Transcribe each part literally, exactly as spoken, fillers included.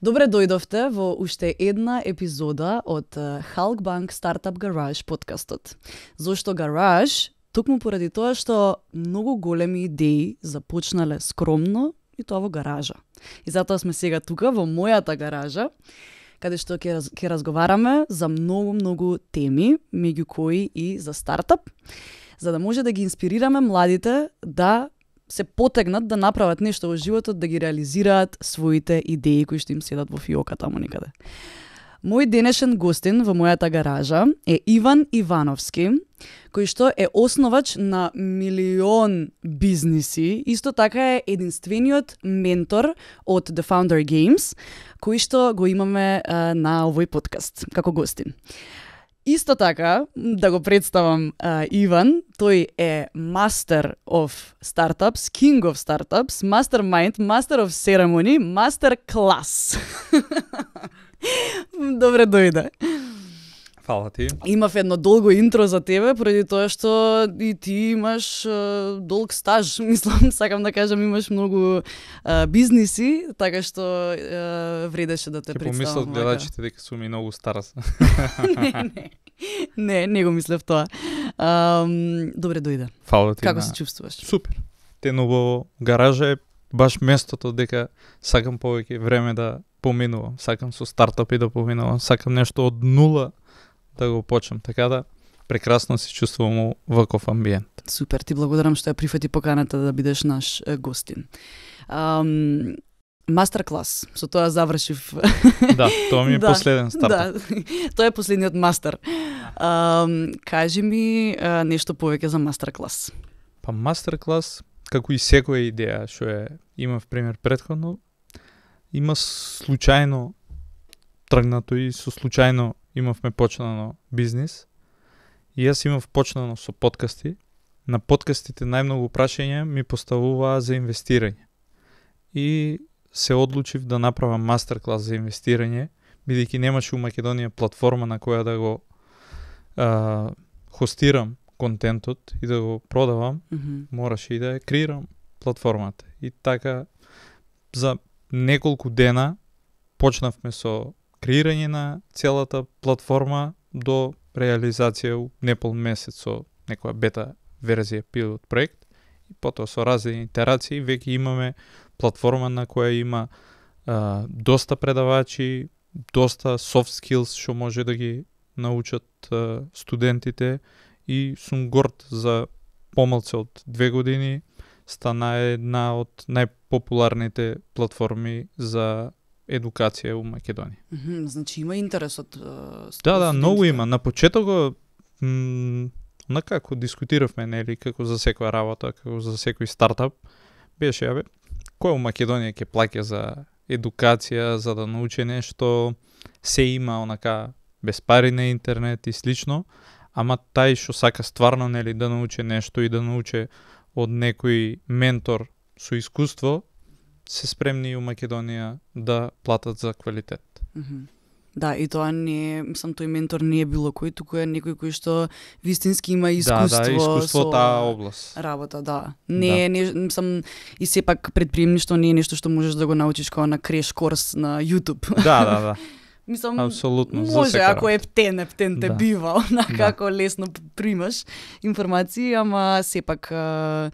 Добре дојдовте во уште една епизода од Halkbank Startup Garage подкастот. Зошто Garage? Токму поради тоа што многу големи идеи започнале скромно и тоа во гаража. И затоа сме сега тука во мојата гаража, каде што ќе раз, ќе разговараме за многу-многу теми, меѓу кои и за стартап, за да може да ги инспирираме младите да се потегнат да направат нешто во животот, да ги реализираат своите идеи кои што им седат во фиока таму некаде. Мој денешен гостин во мојата гаража е Иван Ивановски, кој што е основач на милион бизниси, исто така е единствениот ментор од The Founder Games, кој што го имаме а, на овој подкаст како гостин. Исто така, да го представам а, Иван, тој е Master of Startups, King of Startups, Mastermind, Master of Ceremony, Master Class. Добре дојде. Фала ти. Имав едно долго интро за тебе, поради тоа што и ти имаш uh, долг стаж, мислам, сакам да кажам, имаш многу uh, бизниси, така што uh, вредеше да те Ке представам. помислат гледачите дека сум и многу стара. не, не. Не, не го мислев тоа. Um, добре дојде. Фала ти. Како на... се чувствуваш? Супер. Тено во гаража е баш местото дека сакам повеќе време да поминувам. Сакам со стартапи да поминувам. Сакам нешто од нула да го почнам. Така да прекрасно се чувствувам во ваков амбиент. Супер, ти благодарам што ја прифати поканата да бидеш наш е, гостин. Um, Мастер клас, со тоа завршив. Да, тоа ми е да, последен стартап. Да, тоа е последниот мастер. Um, кажи ми uh, нешто повеќе за мастер клас. Па мастер клас, како и секоја идеја што е имав пример претходно, има случајно тргнато и со случајно имавме почнано бизнис. И јас имав почнано со подкасти. На подкастите најмногу прашања ми поставуваа за инвестирање. И се одлучив да направам мастер клас за инвестирање, бидејќи немаше у Македонија платформа на која да го а, хостирам контентот и да го продавам, Mm-hmm. мораше и да ја креирам платформата. И така за неколку дена почнавме со креирање на целата платформа до реализација у непол месец со некоја бета верзија пилот проект и потоа со разни итерации веќе имаме платформа на која има а, доста предавачи, доста soft skills што може да ги научат а, студентите и сум горд за помалце од две години стана една од најпопуларните платформи за едукација у Македонија. Mm-hmm. Значи има интерес од uh, Да, да, многу има. На почетокот м, онака како дискутиравме, нели, како за секоја работа, како за секој стартап, беше, абе, кој у Македонија ќе плаќа за едукација, за да научи нешто, се има онака без пари на интернет и слично, ама тај што сака стварно, нели, да научи нешто и да научи од некој ментор со искуство, се спремни у Македонија да платат за квалитет. Mm-hmm. Да, и тоа не е, мислам, тој ментор не е било кој, туку е некој кој што вистински има искуство. Да, да, искуство со таа област. Работа, да. Не е, не, мислам, и сепак предприемништво не е нешто што можеш да го научиш како на креш корс на YouTube. Да, да, да. Мислам, апсолутно, може, ако е птен, птен те Да. бива, на Да. како лесно примаш информации, ама сепак а,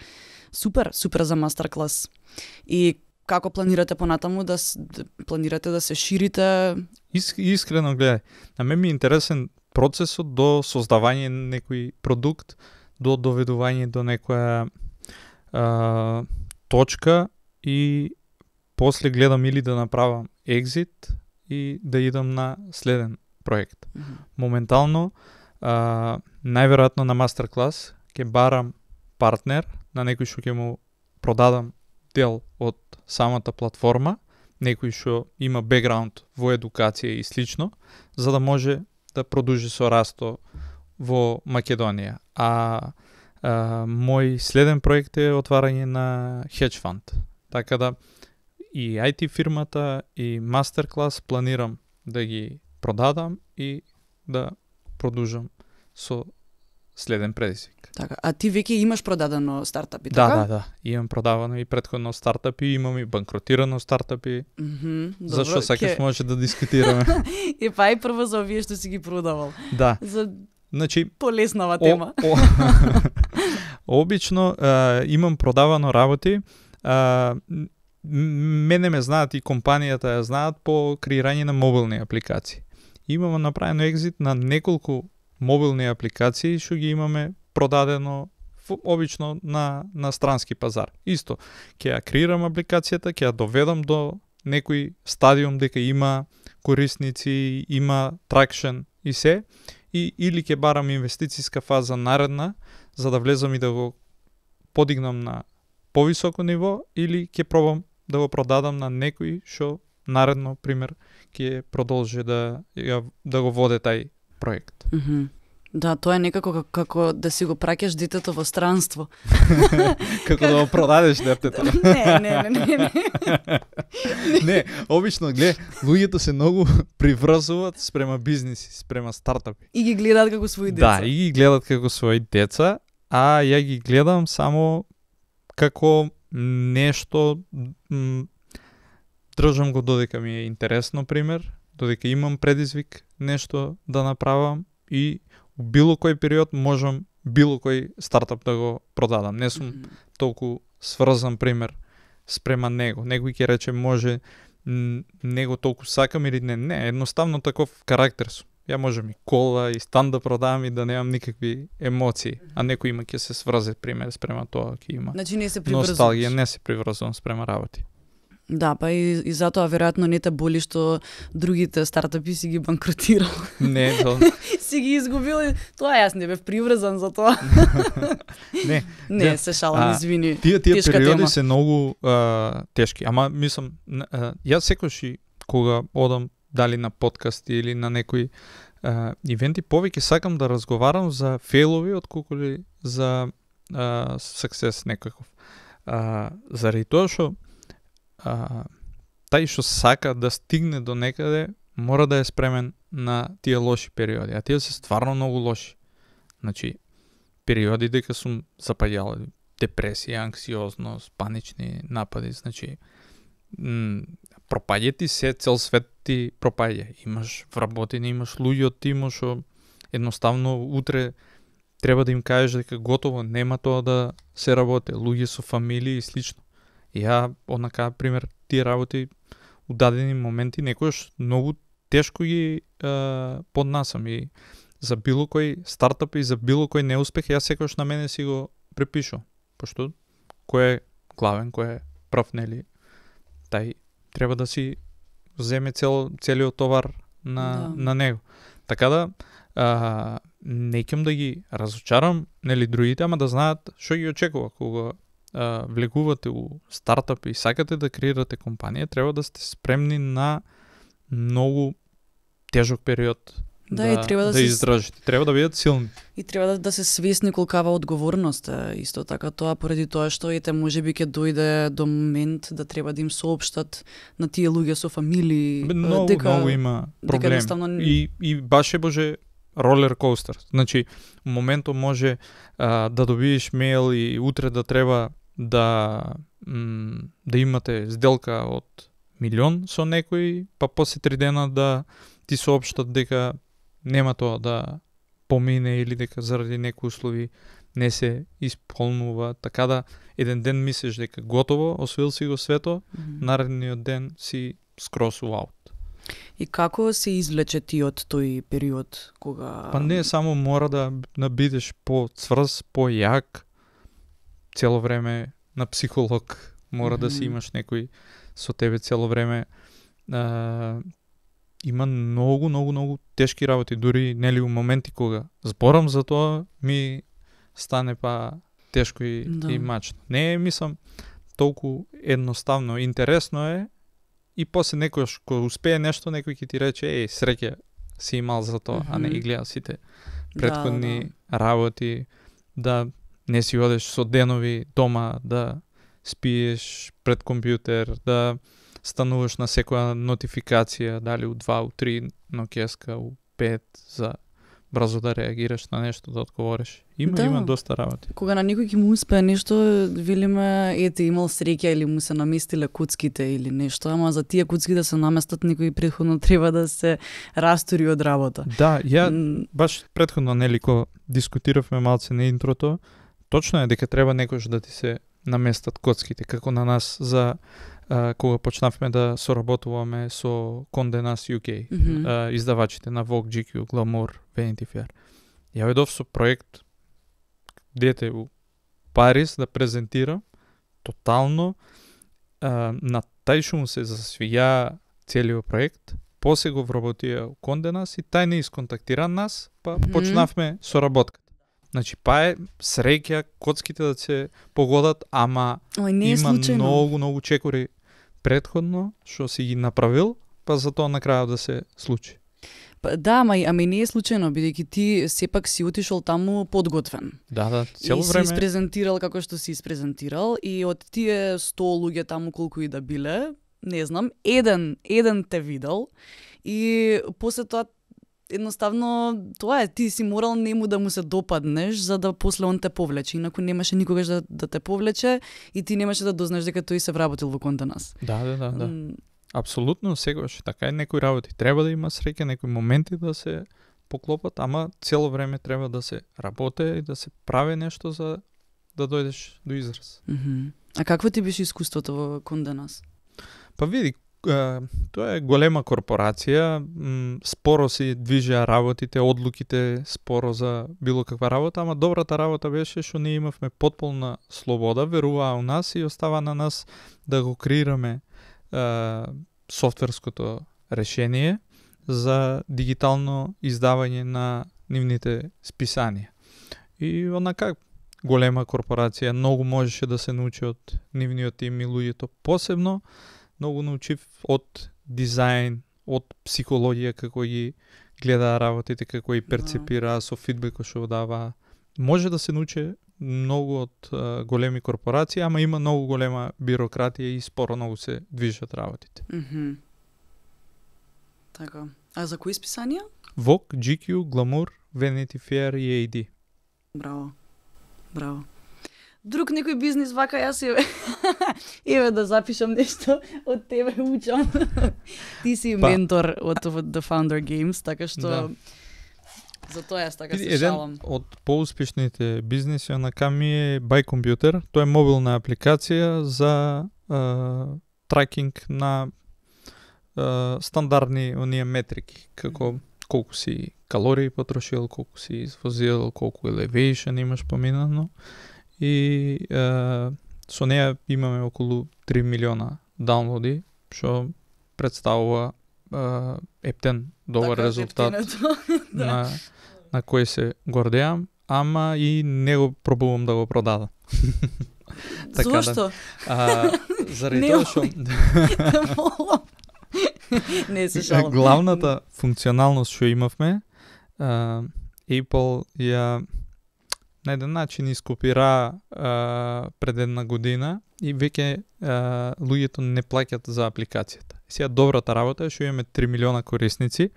супер, супер за мастер клас. И како планирате понатаму да, с- да планирате да се ширите? Ис, искрено гледај, на мен ми е интересен процесот до создавање на некој продукт, до доведување до некоја а, точка и после гледам или да направам екзит и да идам на следен проект. Мгм. Моментално, а, најверојатно на мастер клас ќе барам партнер на некој што ќе му продадам дел од самата платформа, некој што има бекграунд во едукација и слично, за да може да продолжи со расто во Македонија. А, а мој следен проект е отварање на хедж фанд. Така да и ай ти фирмата и мастер клас планирам да ги продадам и да продолжам со следен предизвик. Така, а ти веќе имаш продадено стартапи, Да, така? да, да. Имам продавано и претходно стартапи, имам и банкротирано стартапи. Мгм, Зашто добро, сакаш ќе- може да дискутираме. И па и прво за овие што си ги продавал. Да. За Значи, полеснава о, тема. о, обично а, имам продавано работи. А, м- мене ме знаат и компанијата ја знаат по креирање на мобилни апликации. Имаме направено екзит на неколку мобилни апликации што ги имаме продадено в- обично на, на странски пазар. Исто, ќе ја креирам апликацијата, ќе ја доведам до некој стадиум дека има корисници, има тракшн и се, и или ќе барам инвестициска фаза наредна, за да влезам и да го подигнам на повисоко ниво, или ќе пробам да го продадам на некој што наредно, пример, ќе продолжи да, ја- да го воде тај проект. Мгм. Да, тоа е некако како, како да си го праќаш детето во странство. Како да го продадеш детето. не, не, не, не, не. Не, обично, гле, луѓето се многу приврзуваат спрема бизниси, спрема стартапи. И ги гледаат како свои деца. Да, и ги гледат како свои деца, а ја ги гледам само како нешто, м, држам го додека ми е интересно, пример, додека имам предизвик нешто да направам и у било кој период можам било кој стартап да го продадам. Не сум Мгм. толку сврзан, пример, спрема него. Некој ќе рече може м, него толку сакам или не. Не, едноставно таков карактер сум. Ја можам и кола и стан да продавам и да немам никакви емоции. А некој има ќе се сврзе, пример, спрема тоа, ќе има Значи не се приврзуваш. носталгија, не се приврзувам спрема работи. Да, па и, и затоа веројатно не те боли што другите стартапи си ги банкротирал. Не, то, си ги изгубил и тоа јас не бев приврзан за тоа. не. Не, Да. се шалам, А, извини. Тие тие Тешка периоди тема. се многу а, тешки. Ама мислам, н- а, јас секогаш и кога одам дали на подкасти или на некои а, ивенти, повеќе сакам да разговарам за фейлови отколку ли за а, суксес некаков. А, заради тоа што а, тај што сака да стигне до некаде мора да е спремен на тие лоши периоди, а тие се стварно многу лоши. Значи, периоди дека сум запаѓал депресија, анксиозност, панични напади, значи м, пропаѓа ти се, цел свет ти пропаѓа. Имаш вработени, имаш луѓе од тимо што едноставно утре треба да им кажеш дека готово, нема тоа да се работи. Луѓе со фамилии и слично. И ја, однака, пример, тие работи у дадени моменти некојаш многу тешко ги е, поднасам и за било кој стартап и за било кој неуспех јас секогаш на мене си го препишувам. Пошто кој е главен, кој е прав, нели, тај треба да си земе цел, целиот товар на, Да. на него. Така да, а, не ќам да ги разочарам, нели, другите, ама да знаат што ги очекува кога а, влегувате у стартап и сакате да креирате компанија, треба да сте спремни на многу тежок период. Да, и треба да да се- издржите. Треба да бидат силни. И треба да, да се свесни колкава одговорност е исто така тоа, поради тоа што ете можеби ќе дојде до момент да треба да им соопштат на тие луѓе со фамилии Бе, Многу, дека многу има дека проблеми. едноставно- И, и баш е боже ролер коустер. Значи, у моментот може а, да добиеш мејл и утре да треба да м, да имате сделка од милион со некој, па после три дена да ти соопштат дека нема тоа да помине или дека заради некои услови не се исполнува, така да еден ден мислиш дека готово, освоил си го свето, Мгм. наредниот ден си скрос аут. И како се извлече ти од тој период кога Па не само мора да, да бидеш по-цврз, по-јак, цело време на психолог, мора да си Мгм. имаш некој со тебе цело време. А, има многу, многу, многу тешки работи, дури нели у моменти кога зборам за тоа ми стане па тешко и, Да. и мачно. Не е, мислам, толку едноставно. Интересно е и после некојаш кога успее нешто, некој ќе ти рече, еј, среќа си имал за тоа, а не Мгм. ги гледа сите Да, претходни да. работи, да не си одеш со денови дома, да спиеш пред компјутер, да стануваш на секоја нотификација, дали у два, у три ноќеска, у пет, за брзо да реагираш на нешто, да одговориш. Има, Да. има доста работи. Кога на некој ќе му успее нешто, велиме, ете, имал среќа или му се наместиле куцките или нешто, ама за тие куцки да се наместат некој претходно треба да се растури од работа. Да, ја М, баш претходно, нели, ко дискутиравме малце на интрото, точно е дека треба некојаш да ти се наместат коцките, како на нас за а, кога почнавме да соработуваме со Condé Nast ю кей, Мгм. а, издавачите на Vogue, джи кју, Glamour, Vanity Fair. Ја ведов со проект дете у Париз да презентира тотално а, на тај што му се засвија целиот проект, после го вработија у Condé Nast и тај не исконтактира нас, па Мгм. почнавме соработката. Значи, па е среќа коцките да се погодат, ама Ой, не е има случајно. многу, многу чекори предходно, што си ги направил, па за тоа на крајот да се случи. Па, да, ама, и- ама и не е случајно, бидејќи ти сепак си отишол таму подготвен. Да, да, цело И си време. испрезентирал како што си испрезентирал и од тие сто луѓе таму колку и да биле, не знам, еден, еден те видел и после тоа едноставно тоа е, ти си морал нему да му се допаднеш за да после он те повлече, инаку немаше никогаш да, да те повлече и ти немаше да дознаеш дека тој се вработил во Condé Nast. Да, да, да, да. М, Апсолутно секогаш така е, некои работи треба да има среќа, некои моменти да се поклопат, ама цело време треба да се работи и да се прави нешто за да дојдеш до израз. мгм. А какво ти беше искуството во Condé Nast? Па види, а, тоа е голема корпорација, м, споро си движеа работите, одлуките споро за било каква работа, ама добрата работа беше што ние имавме потполна слобода, веруваа у нас и остава на нас да го креираме а, софтверското решение за дигитално издавање на нивните списанија. И онака голема корпорација, многу можеше да се научи од нивниот тим и луѓето, посебно многу научив од дизајн, од психологија, како ги гледаа работите, како ги перцепираа со фидбекот што даваа. Може да се научи многу од а, големи корпорации, ама има многу голема бирократија и споро многу се движат работите. Мгм. Така. А за кои списанија? Vogue, джи кју, Glamour, Vanity Fair и ей ди. Браво. Браво. Друг некој бизнис вака јас еве еве да запишам нешто од тебе учам. Ти си Па. ментор од The Founder Games, така што Да. за тоа јас така се Еден шалам. од поуспешните бизниси онака ми е Buy Computer. Тоа е мобилна апликација за а, тракинг на а, стандардни оние метрики, како колку си калории потрошил, колку си извозил, колку elevation имаш поминано. И а, со неја имаме околу три милиона даунлоди, што представува а, ептен добар Така, резултат ефтинето. Да. на, на кој се гордеам, ама и не го пробувам да го продадам. Така да. Зошто? А, заради Не, тоа што Не се шалам. главната функционалност што имавме, а, Apple ја на еден начин ископира а, пред една година и веќе а, луѓето не плаќат за апликацијата. Сега добрата работа е што имаме три милиона корисници,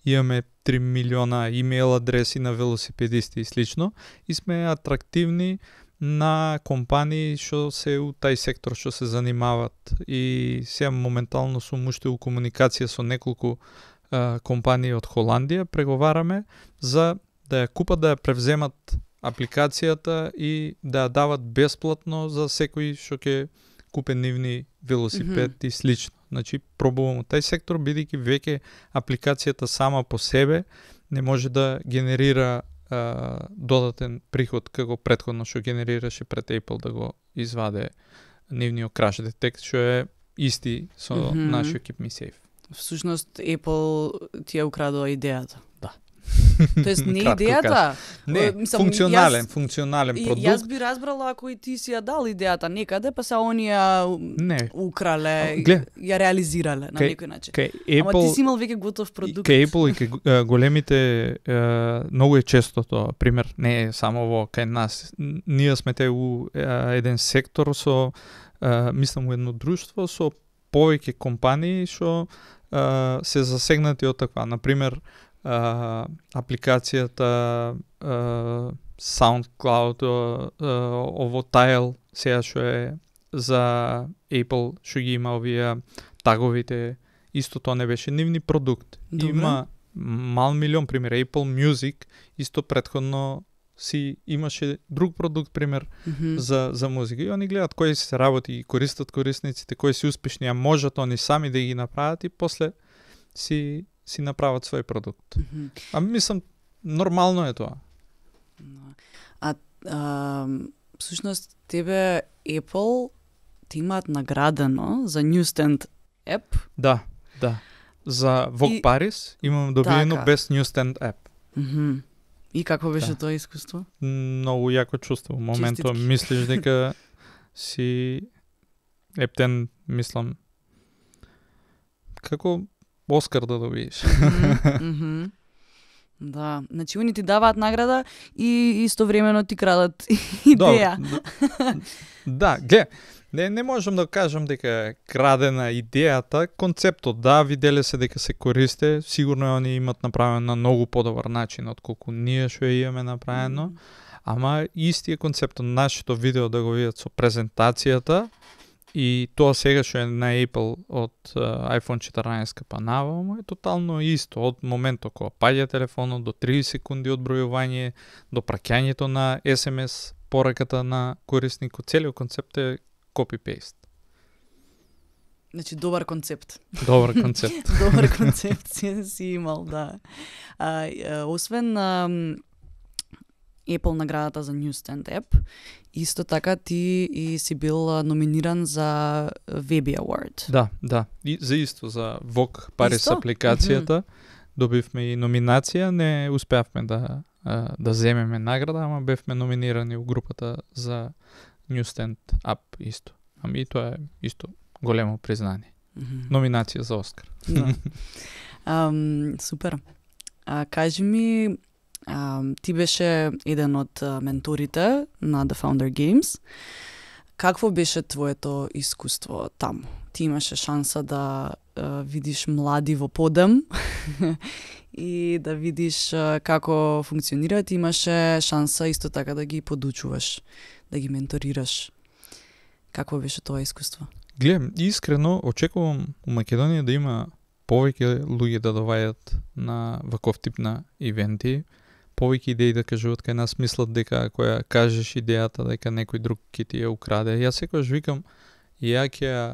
имаме три милиона имейл адреси на велосипедисти и слично и сме атрактивни на компании што се у тај сектор што се занимават и сега моментално сум уште у комуникација со неколку а, компании од Холандија, преговараме за да ја купат, да ја превземат апликацијата и да ја дават бесплатно за секој што ќе купе нивни велосипед mm-hmm. и слично. Значи, пробувам тај сектор, бидејќи веќе апликацијата сама по себе не може да генерира а, додатен приход како претходно што генерираше пред Apple да го изваде нивниот crash detect, што е исти со Мгм. нашиот Keep Me Safe. Всушност Apple ти ја украдува идејата. Да. Тоест не Кратко идејата. Не, Е, мислам, функционален, јас- функционален И, продукт. јас би разбрала ако и ти си ја дал идејата некаде, па се они ја Не, украле, А, глед. ја реализирале на Кај- некој начин. кај Ама ти Apple си имал веќе готов продукт. Кај Apple и кај е, големите е, многу е често тоа, пример, не е само во кај нас. Н- Ние сме те у е, еден сектор со е, мислам у едно друштво со повеќе компании што е, се засегнати од таква. На пример, а, апликацијата а, SoundCloud, а, а, ово Tile, сега што е за Apple, што ги има овие таговите, исто тоа не беше нивни продукт. Добре. Има мал милион, пример, Apple Music, исто претходно си имаше друг продукт, пример, Мгм. за, за музика. И они гледат кои се работи и користат корисниците, кои си успешни, а можат они сами да ги направат и после си, си направат свој продукт. Мгм. А мислам, нормално е тоа. Да. А, а всушност тебе Apple ти имаат наградено за Newsstand App. Да, да. За Vogue И- Paris имам добиено Така. Best Newsstand App. Мгм. И какво беше Да. тоа искуство? Многу јако чувство. Во моментот Честитки. мислиш дека си ептен, мислам, како Оскар да добиеш. Мгм, мгм. Да, значи они ти даваат награда и истовремено ти крадат идеја. Добро, д- да, гле, не, не можам да кажам дека е крадена идејата, концептот, да, виделе се дека се користе, сигурно они имат направено на многу подобар начин отколку ние што ја имаме направено, ама истиот концепт, нашето видео да го видат со презентацијата и тоа сега што е на Apple од uh, iPhone четрнаесет па наваму е тотално исто. Од моментот кога паѓа телефонот до тридесет секунди одбројување, до праќањето на ес ем ес пораката на корисникот, целиот концепт е copy-paste. Значи добар концепт. Добар концепт. Добар концепт си, си имал, да. А, а, освен а, Apple наградата за Newsstand App, исто така ти и си бил а, номиниран за Webby Award. Да, да. И за исто, за Vogue Paris Исто? апликацијата, добивме и номинација, не успеавме да, а, да земеме награда, ама бевме номинирани у групата за Newsstand App исто. Ами и тоа е исто големо признание. Мгм. Номинација за Оскар. Да. Ам, супер. А, кажи ми, ам, ти беше еден од а, менторите на The Founder Games. Какво беше твоето искуство таму? Ти имаше шанса да а, видиш млади во подем и да видиш а, како функционираат. Имаше шанса исто така да ги подучуваш, да ги менторираш. Какво беше тоа искуство? Гледам, искрено очекувам у Македонија да има повеќе луѓе да доваѓаат на ваков тип на ивенти, повеќе идеи да кажуваат кај нас, мислат дека ако ја кажеш идејата дека некој друг ќе ти ја украде. Јас секогаш викам, ја ќе ја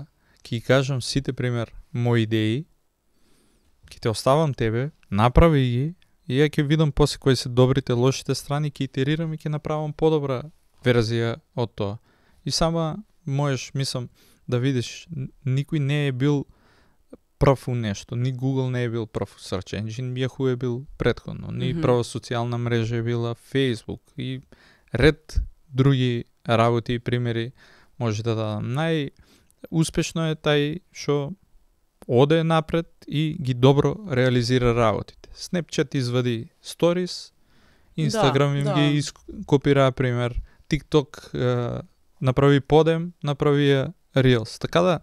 ќе ги кажам сите пример мои идеи, ќе те оставам тебе, направи ги и ја ќе видам после кои се добрите, лошите страни, ќе итерирам и ќе направам подобра верзија од тоа. И сама можеш, мислам, да видиш, н- никој не е бил прв у нешто. Ни Google не е бил прв search engine, Yahoo е бил претходно. Ни Мгм. прва социјална мрежа е била Facebook и ред други работи и примери може да дадам. Најуспешно е тај што оде напред и ги добро реализира работите. Snapchat извади stories, Instagram Да, им да. ги копира пример, TikTok е, направи подем, направи ја Reels. Така да,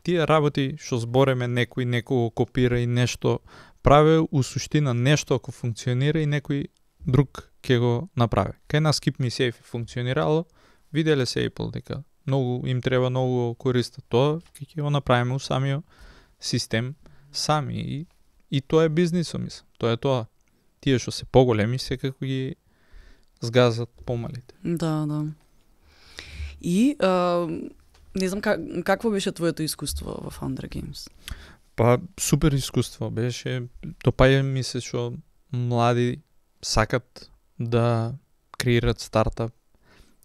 тие работи што збореме некој некого копира и нешто праве, у суштина нешто ако функционира и некој друг ќе го направи. Кај нас Keep Me Safe функционирало, виделе се Apple дека многу им треба многу користат тоа, ќе ќе го направиме у самиот систем сами и, и тоа е бизнисот, мислам. Тоа е тоа. Тие што се поголеми секако ги згазат помалите. Да, да. И а, не знам как, какво беше твоето искуство во Founder Games? Па супер искуство беше. Допаѓа ми се што млади сакат да креират стартап,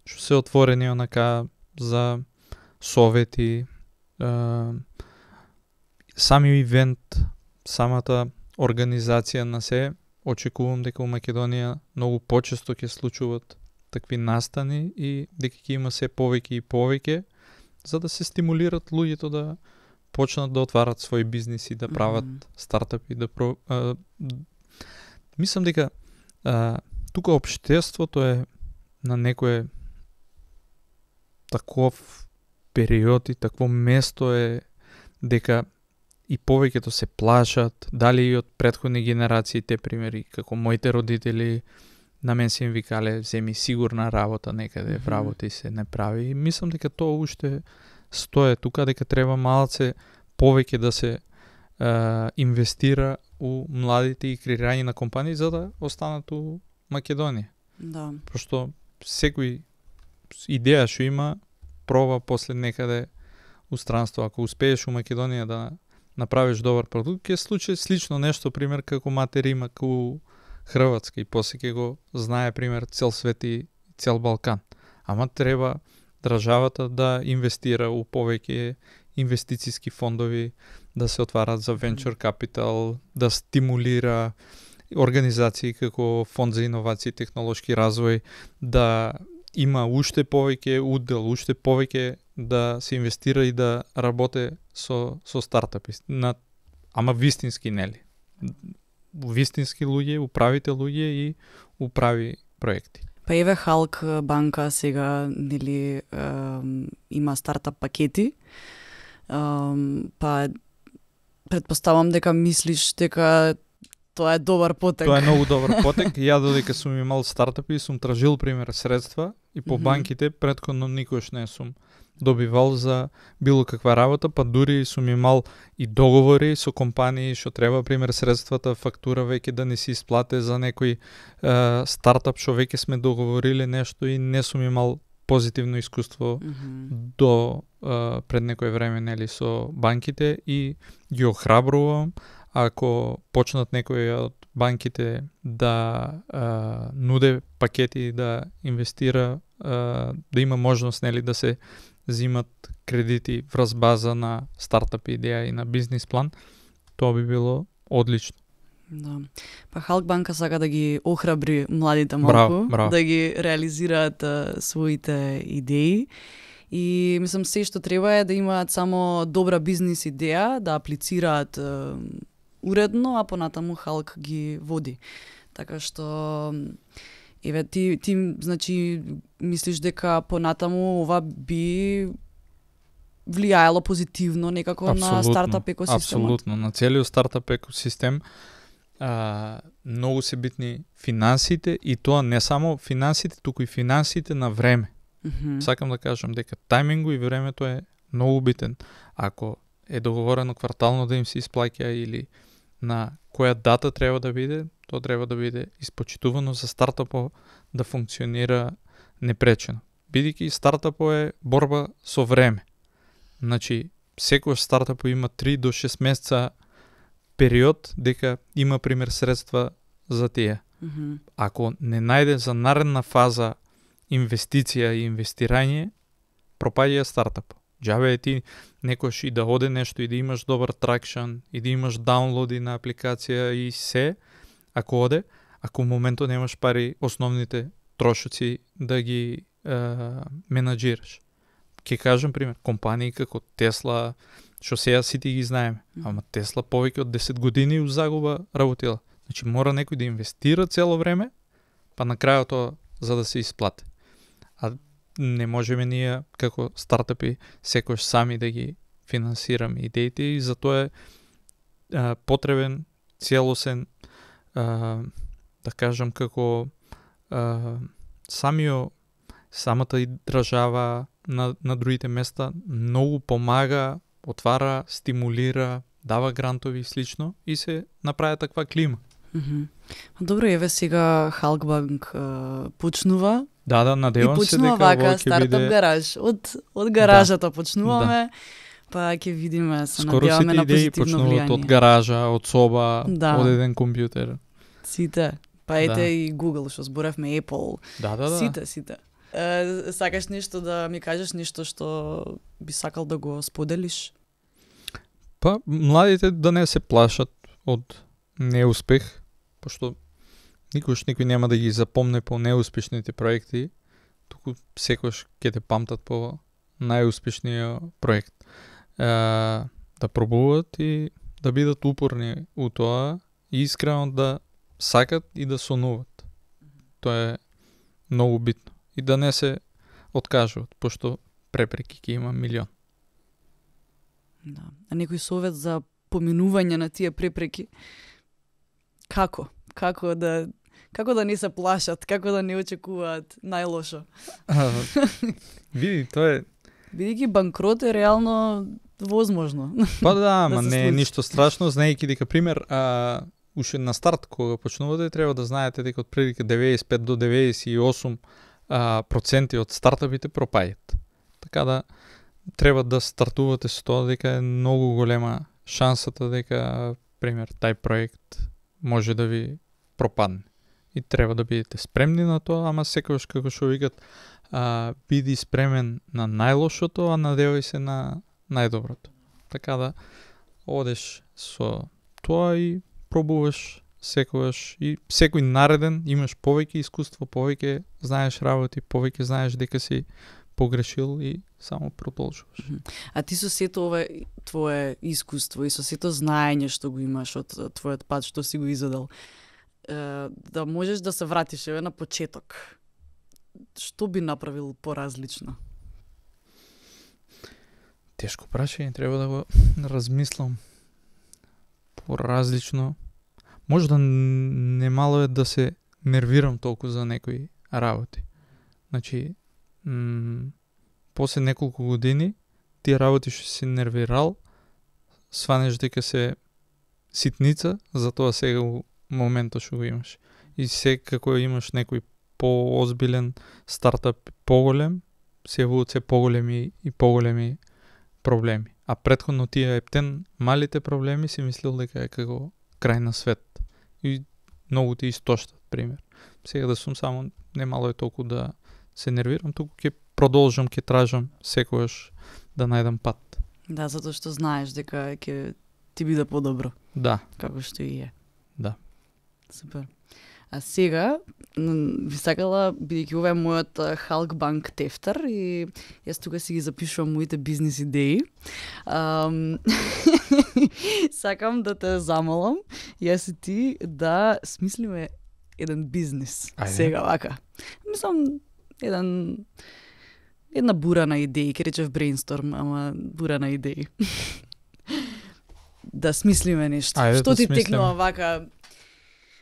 што се отворени онака за совети, е, сами ивент, самата организација на се. Очекувам дека у Македонија многу почесто ќе случуваат такви настани и дека ќе има се повеќе и повеќе, за да се стимулират луѓето да почнат да отварат своји бизниси, да прават Мгм. стартапи, да про... а, мислам дека а, тука општеството е на некое таков период и такво место е дека и повеќето се плашат, дали и од претходни генерации, те примери, како моите родители, на мен се им викале, земи сигурна работа некаде, Мгм. вработи се, не прави. И мислам дека тоа уште стое тука, дека треба малце повеќе да се е, инвестира у младите и креирање на компании за да останат у Македонија. Да. Пошто секој идеја што има, проба после некаде у странство. Ако успееш у Македонија да направиш добар продукт, ќе случи слично нешто, пример, како Матер има у Хрватска и после ќе го знае, пример, цел свет и цел Балкан. Ама треба државата да инвестира у повеќе инвестициски фондови, да се отварат за venture capital, да стимулира организации како Фонд за иновации и технолошки развој, да има уште повеќе удел, уште повеќе да се инвестира и да работи со со стартапи. На ама вистински, нели? Вистински луѓе, управите луѓе и управи проекти. Па еве Халк банка сега, нели, ем, има стартап пакети. Ем, па претпоставам дека мислиш дека тоа е добар потек. Тоа е многу добар потек. Ја додека сум имал стартапи, сум тражил, пример, средства и по Мгм. банките претходно никош не сум добивал за било каква работа, па дури сум имал и договори со компании што треба, пример, средствата, фактура веќе да не се исплате за некој е, стартап што веќе сме договориле нешто и не сум имал позитивно искуство Мгм. до е, пред некој време, нели, со банките и ги охрабрувам ако почнат некои од банките да а, нуде пакети да инвестира, а, да има можност, нели, да се зимат кредити врз база на стартап идеја и на бизнис план, тоа би било одлично. Да. Па Халк банка сака да ги охрабри младите малку, Браво, браво. да ги реализираат а, своите идеи. И мислам се што треба е да имаат само добра бизнис идеја, да аплицираат а, уредно, а понатаму Халк ги води. Така што еве ти ти значи мислиш дека понатаму ова би влијаело позитивно некако на стартап екосистемот? Апсолутно, на целиот стартап екосистем. А, многу се битни финансите и тоа не само финансите, туку и финансите на време. Мгм. Сакам да кажам дека тајмингу и времето е многу битен. Ако е договорено квартално да им се исплаќа или на која дата треба да биде, тоа треба да биде испочитувано за стартапот да функционира непречено. Бидејќи стартапот е борба со време. Значи, секој стартап има три до шест месеца период дека има, пример, средства за тие. Мгм. Ако не најде за наредна фаза инвестиција и инвестирање, пропаѓа стартап. Џабе е ти некош и да оде нешто и да имаш добар тракшн и да имаш даунлоди на апликација и се, ако оде, ако у моментот немаш пари основните трошоци да ги е, менаџираш. Ке кажам пример, компании како Тесла, што сега сите ги знаеме, ама Тесла повеќе од десет години у загуба работила. Значи мора некој да инвестира цело време, па на крајот тоа за да се исплати. А не можеме ние како стартапи секој сами да ги финансираме идеите и затоа е а, потребен целосен а, да кажам како а, самио самата и држава на, на другите места многу помага, отвара, стимулира, дава грантови и слично и се направи таква клима. Мгм. Добро, еве сега Халкбанк а, почнува Да, да, и надевам се почнува дека вака ово ќе стартап биде гараж. Од од гаражата почнуваме, па ќе видиме, се скоро надеваме сите на идеи позитивно почнуваат од влијание. гаража, од соба, Да. од еден компјутер. Сите. Па ете Да. и Google, што зборевме, Apple. Да, да, да. Сите, сите. Е, сакаш нешто да ми кажеш, нешто што би сакал да го споделиш? Па младите да не се плашат од неуспех, пошто никош никој нема да ги запомне по неуспешните проекти, туку секош ќе те памтат по најуспешниот проект. Е, да пробуваат и да бидат упорни у тоа и искрено да сакат и да сонуват. Тоа е многу битно. И да не се откажуваат, пошто препреки ќе има милион. Да. А некој совет за поминување на тие препреки. Како? Како да како да не се плашат, како да не очекуваат најлошо. А, види, тоа е Бидејќи банкрот е реално возможно. Па да, ама да не е ништо страшно, знаејќи дека пример, а, уште на старт кога почнувате треба да знаете дека од прилика деветдесет и пет до деветдесет и осум а, проценти од стартапите пропаѓаат. Така да треба да стартувате со тоа дека е многу голема шансата дека пример тај проект може да ви пропадне. И треба да бидете спремни на тоа, ама секогаш како што викат, а, биди спремен на најлошото, а надевај се на најдоброто. Така да одеш со тоа и пробуваш секогаш и секој нареден имаш повеќе искуство, повеќе знаеш работи, повеќе знаеш дека си погрешил и само продолжуваш. А ти со сето ова твое искуство и со сето знаење што го имаш од твојот пат што си го изодел, да можеш да се вратиш еве на почеток, што би направил поразлично? Тешко прашање, треба да го размислам. Поразлично. Може да немало е да се нервирам толку за некои работи. Значи, м- после неколку години, тие работи што си нервирал, сванеш дека се ситница, затоа сега у моментот што го имаш. И секако имаш некој поозбилен стартап, поголем, се јавуваат се поголеми и поголеми проблеми. А претходно тие ептен малите проблеми си мислил дека е како крај на свет. И многу ти истоштат, пример. Сега да сум само немало е толку да се нервирам, туку ќе продолжам, ќе тражам секогаш да најдам пат. Да, затоа што знаеш дека ќе ти биде подобро. Да. Како што и е. Да. Супер. А сега, ви сакала, бидејќи ова е мојот Халк Банк тефтер и јас тука си ги запишувам моите бизнис идеи. Um, сакам да те замолам, јас и ти да смислиме еден бизнис. Ајде. Сега вака. Мислам, еден една бура на идеи, ке речев брейнсторм, ама бура на идеи. Да смислиме нешто. Ајде, Што да ти смислиме. текнува вака?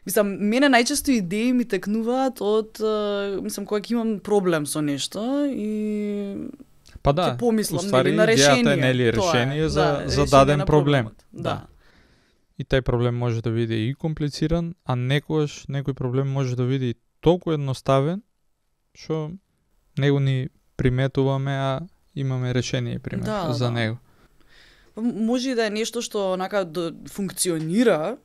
Мислам, мене најчесто идеи ми текнуваат од, мислам, кога ќе имам проблем со нешто и Па да, ќе помислам уствари нели, на решение. идејата е нели Тоа решение за, да, за решение даден на проблем. проблемот. Да. И тај проблем може да биде и комплициран, а некогаш некој проблем може да биде и толку едноставен, што него ни приметуваме, а имаме решение, пример, Да, за да. него. Може и да е нешто што онака да функционира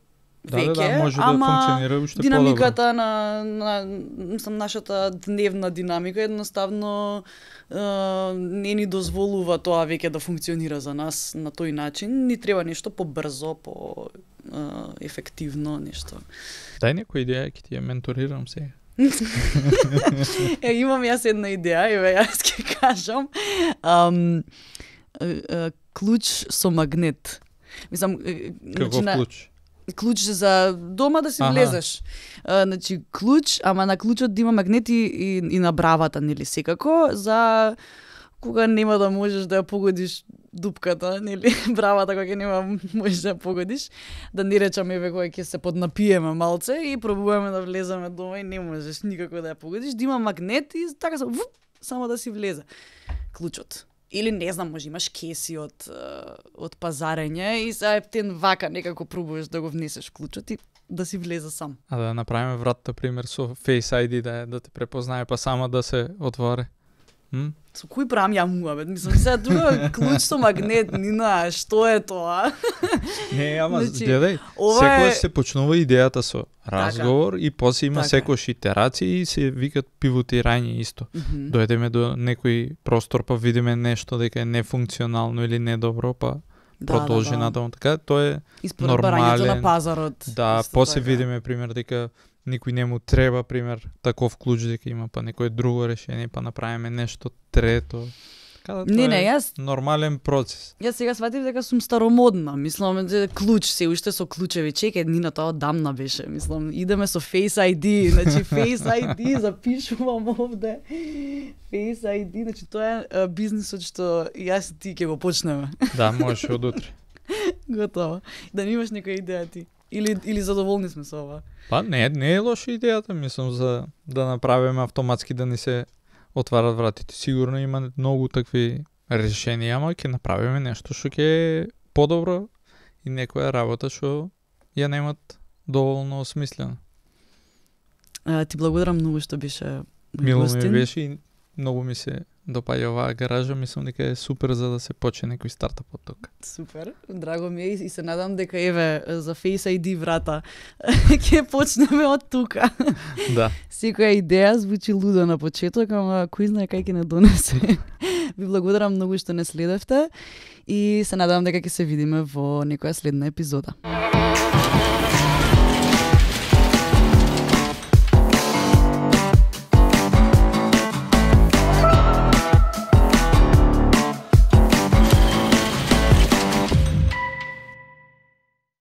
Да, веќе, да, да, може ама да функционира уште динамиката на, на мислам, нашата дневна динамика едноставно е, не ни дозволува тоа веќе да функционира за нас на тој начин. Ни треба нешто побрзо, по е, ефективно нешто. подобро. Дај некоја идеја, ќе ти ја менторирам сега. Е, имам јас една идеја, еве јас ќе кажам. Ам, е, е, клуч со магнет. Мислам, е, Каков значи, на- клуч? клуч за дома да си Аха. влезеш. А, значи клуч, ама на клучот да има магнети и, и на бравата, нели секако, за кога нема да можеш да ја погодиш дупката, нели бравата кога ќе нема можеш да ја погодиш, да не речам еве кога ќе се поднапиеме малце и пробуваме да влеземе дома и не можеш никако да ја погодиш, да има магнет и така само, вуп, само да си влезе клучот. Или не знам, може имаш кеси од, е, од пазарење и сега ептен вака некако пробуваш да го внесеш клучот и да си влезе сам. А да направиме вратата, пример, со Face ай ди, да, е- да те препознае, па само да се отвори. М? Со кој правам ја муабет? Мислам, сега тука клуч со магнет, Нина, што е тоа? Не, ама Значи, гледај, ова секогаш е- се почнува идејата со разговор и после има Така е. секојаш итерации и се викат пивотирање исто. Мгм. Дојдеме до некој простор, па видиме нешто дека е нефункционално или недобро, па Да, продолжи да, да. натаму. Така, тоа е, И според барањето нормален- на пазарот. да, исто после така. видиме, пример, дека никој не му треба, пример, таков клуч дека има, па некој друго решение, па направиме нешто трето. Така да, тоа Не, не, е јас нормален процес. Јас сега сватив дека сум старомодна. Мислам, дека клуч, се уште со клучеви. Чекај, Нина, тоа одамна беше. Мислам, идеме со Face ай ди. Значи, Face ай ди, запишувам овде. Face ай ди, значи, тоа е а, бизнисот што јас и ти ќе го почнеме. Да, можеш од утре. Готово. Да немаш некоја идеја ти. Или, или задоволни сме со ова? Па не, не е лоша идејата, мислам, за да направиме автоматски да ни се отварат вратите. Сигурно има многу такви решенија, ама ќе направиме нешто што ќе е подобро и некоја работа што ја немат доволно осмислено. А, ти благодарам многу што беше Мило ми гостин. беше и многу ми се допаѓа оваа гаража, мислам дека е супер за да се почне некој стартап од тука. Супер, драго ми е и се надам дека еве за Face ай ди врата ќе почнеме од тука. Да. Секоја идеја звучи лудо на почеток, ама кој знае кај ќе не донесе. Ви благодарам многу што не следевте и се надам дека ќе се видиме во некоја следна епизода.